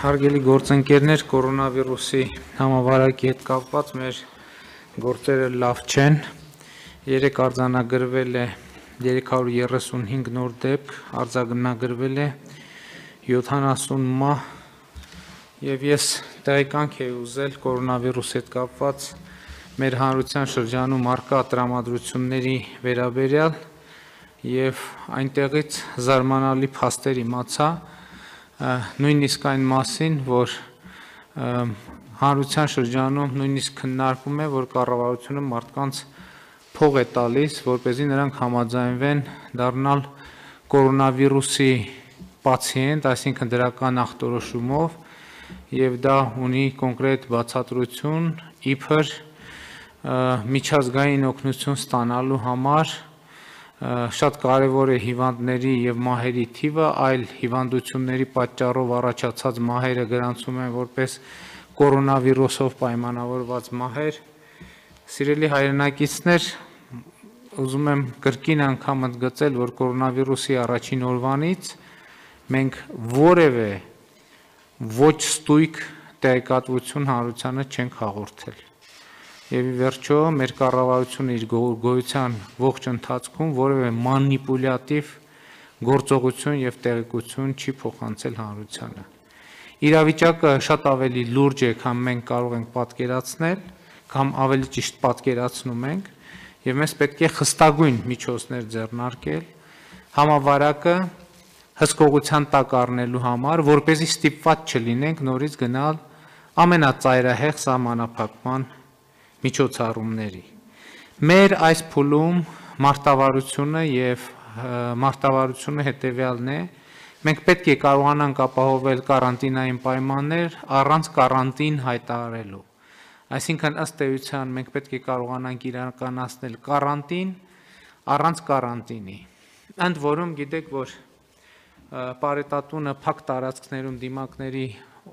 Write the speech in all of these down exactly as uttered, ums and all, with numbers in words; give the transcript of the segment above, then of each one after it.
Հարգելի գործընկերներ, կորոնավիրուսի համավարակի հետ կապված մեր գործերը լավ չեն։ Երեկ արձանագրվել է երեք հարյուր երեսունհինգ նոր դեպք, արձանագրվել է յոթանասուն մահ, եւ ես տեղեկանք եի ուզել կորոնավիրուսի հետ կապված մեր հանրության շրջանում առկա տրամադրությունների վերաբերյալ եւ այնտեղից զարմանալի փաստեր իմացա, նույնիսկ այն մասին, որ հանրության շրջանում նույնիսկ քննարկվում է, որ կառավարությունը մարդկանց փող է տալիս, որպեսզի նրանք համաձայնվեն դառնալ կորոնավիրուսի պացիենտ, այսինքն դրական ախտորոշումով, եւ դա ունի կոնկրետ բացատրություն, իբր միջազգային օգնություն ստանալու համար շատ կարևոր է հիվանդների եւ մահերի թիվը, այլ հիվանդությունների պատճառով առաջացած մահերը գրանցում են որպես կորոնավիրուսով պայմանավորված մահեր։ Սիրելի հայրենակիցներ, ուզում եմ կրկին անգամ ընդգծել, որ կորոնավիրուսի առաջին օրվանից մենք որևէ ոչ ստույգ տեղեկատվություն հանրությանը չենք հաղորդել։ Եվ ի վերջո մեր կառավարությունը իր գոյության ողջ ընթացքում որևէ մանիպուլյատիվ գործողություն եւ տեղեկություն չի փոխանցել հանրությանը։ Իրավիճակը շատ ավելի լուրջ է, քան մենք կարող ենք պատկերացնել, կամ ավելի ճիշտ պատկերացնում ենք, եւ մեզ պետք է խստագույն միջոցներ ձեռնարկել համավարակը հսկողության տակ առնելու համար, որպեսզի ստիպված չլինենք նորից գնալ ամենածայրահեղ սահմանափակման միջոցառումների։ Մեր այս փուլում մարտավարությունը եւ մարտավարությունը հետեւյալն է. մենք պետք է կարողանանք ապահովել կարանտինային պայմաններ առանց կարանտին հայտարարելու։ Այսինքն ըստ էության մենք պետք է կարողանանք իրականացնել կարանտին առանց կարանտինի։ Ընդ որում գիտեք, որ պարետատունը փակ տարածքներում դիմակների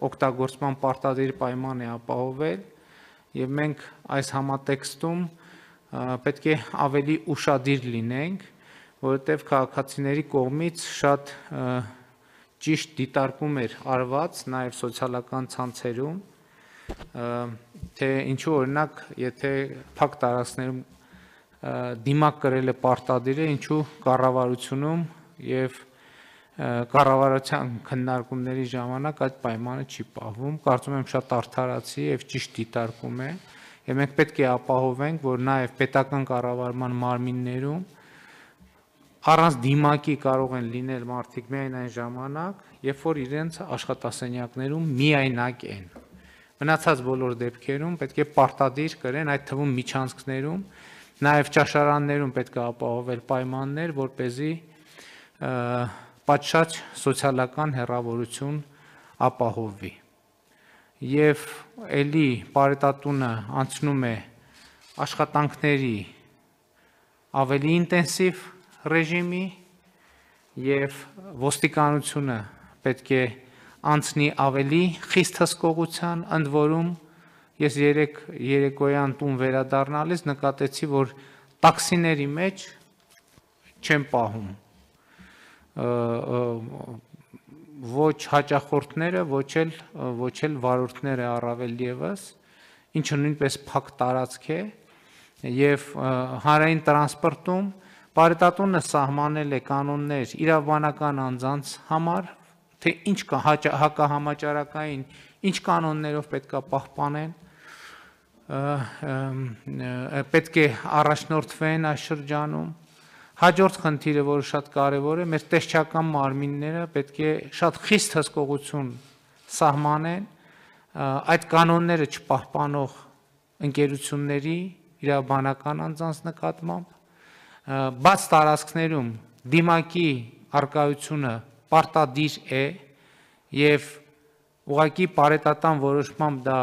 օգտագործման պարտադիր պայման է ապահովել, եւ մենք այս համատեքստում պետք է ավելի ուշադիր լինենք, որովհետեւ քաղաքացիների կողմից շատ ճիշտ դիտարկում էր արված նաեւ սոցիալական ցանցերում, թե ինչու օրինակ, եթե փակ տարածքներում դիմակ կրել է պարտադիր է, ինչու կառավարությունում եւ կառավարության քննարկումների ժամանակ այդ պայմանը չի պահվում։ Կարծում եմ շատ արդարացի եւ ճիշտ դիտարկում է, եւ մենք պետք է ապահովենք, որ նաեւ պետական կառավարման մարմիններում առանց դիմակի կարող են լինել մարդիկ միայն այն ժամանակ, երբ որ իրենց աշխատասենյակներում միայնակ են։ Մնացած բոլոր դեպքերում պետք է պարտադիր կրեն, այդ թվում միջանցքներում, նաեւ ճաշարաններում պետք է ապահովել պայմաններ, որպեսզի պատշաճ սոցիալական հեռավորություն ապահովվի։ Եվ ելի պարետատունը անցնում է աշխատանքների ավելի ինտենսիվ ռեժիմի եւ ոստիկանությունը պետք է անցնի ավելի խիստ հսկողության, ընդ որում ես երեք երեկոյան տուն վերադառնալիս նկատեցի, որ տաքսիների մեջ չեն պահում ոչ հաճախորդները, ոչ էլ ոչ էլ վարորդները առավել եւս, ինչը նույնպես փակ տարածք է, եւ հանրային տրանսպորտում պարետատունը սահմանել է կանոններ իրավաբանական անձանց համար, թե ինչ կա հակահամաճարակային, ինչ կանոններով պետք է պահպանեն, պետք է առաջնորդվեն այս շրջանում։ Հաջորդ խնդիրը, որը շատ կարևոր է, մեր տեսչական մարմինները պետք է շատ խիստ հսկողություն սահմանեն այդ կանոնները չպահպանող ընկերությունների իրավաբանական անձանց նկատմամբ, բաց տարածքներում դիմակի առկայությունը պարտադիր է եւ ուղղակի պարետատան որոշմամբ դա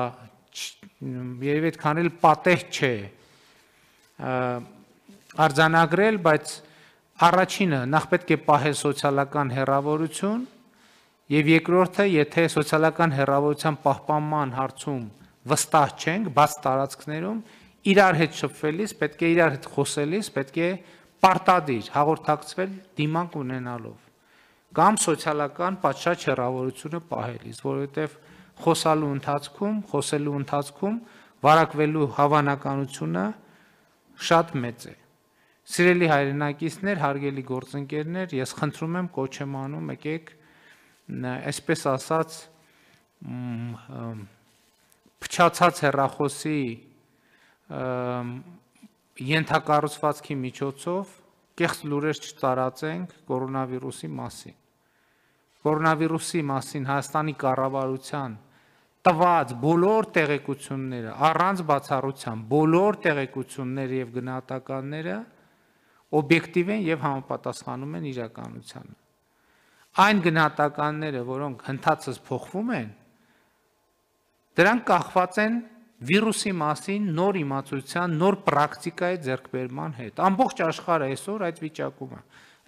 երևի այդքան էլ պատեհ չէ արձանագրել, բայց առաջինը նախ պետք է պահել սոցիալական հեռավորություն եւ երկրորդը, եթե սոցիալական հեռավորության պահպանման հարցում վստահ չենք, բաց տարածքներում իրար հետ շփվելիս պետք է իրար հետ խոսելիս պետք է պարտադիր հաղորդակցվել դիմակ ունենալով։ կամ սոցիալական պատշաճ հեռավորությունը պահելիս, որովհետև խոսալու ընթացքում, խոսելու ընթացքում վարակվելու հավանականությունը շատ մեծ է։ Սիրելի հայրենակիցներ, հարգելի գործընկերներ, ես խնդրում եմ, կոչ եմ անում, եկեք, այսպես ասած, փչացած հեռախոսի ենթակառուցվածքի միջոցով կեղծ լուրեր չտարածենք կորոնավիրուսի մասին։ Կորոնավիրուսի մասին Հայաստանի կառավարության տված բոլոր տեղեկությունները, առանց բացառության, բոլոր տեղեկությունները եւ գնահատականները օբյեկտիվ են եւ համապատասխանում են իրականությանը։ Այն գնահատականները, որոնք հնդածս փոխվում են, դրանք կախված են վիրուսի մասին նոր իմացության, նոր պրակտիկայի ձեռքբերման հետ։ Ամբողջ աշխարհը այսօր այդ վիճակում է։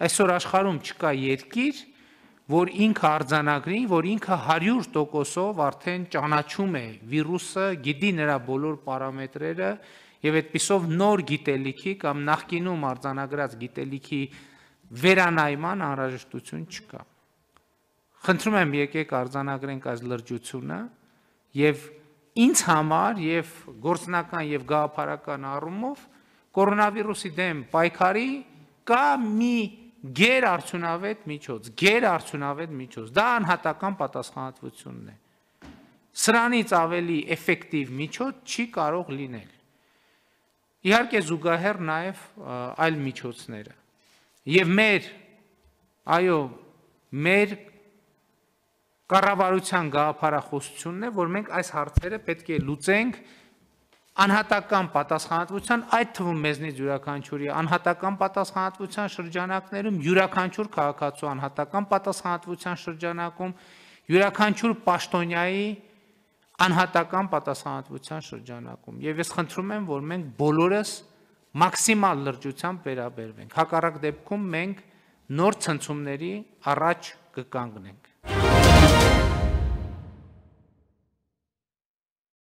Այսօր աշխարհում չկա երկիր, որ ինքը արձանագրի, որ ինքը հարյուր տոկոսով արդեն ճանաչում է վիրուսը, գիտի նրա բոլոր պարամետրերը եւ այդպիսով նոր գիտելիքի կամ նախկինում արձանագրած գիտելիքի վերանայման անհրաժեշտություն չկա։ Խնդրում եմ, եկեք արձանագրենք այս լրջությունը եւ ինձ համար եւ գործնական եւ գաղափարական առումով կորոնավիրուսի դեմ պայքարի կա մի գերարդյունավետ միջոց, գերարդյունավետ միջոց, դա անհատական պատասխանատվությունն է։ Սրանից ավելի էֆեկտիվ միջոց չի կարող լինել։ Իհարկե զուգահեռ նաև այլ միջոցները։ Եվ մեր, այո, մեր կառավարության գաղափարախոսությունն է, որ մենք այս հարցերը պետք է լուծենք անհատական պատասխանատվության, այդ թվում մեզնից յուրաքանչյուրի անհատական պատասխանատվության շրջանակներում, յուրաքանչյուր քաղաքացու անհատական պատասխանատվության շրջանակում, յուրաքանչյուր պաշտոնյայի անհատական պատասխանատվության շրջանակում։ Եվ ես խնդրում եմ, որ մենք բոլորս մաքսիմալ լրջությամբ վերաբերվենք։ Հակառակ դեպքում մենք նոր ցնցումների առաջ կկանգնենք։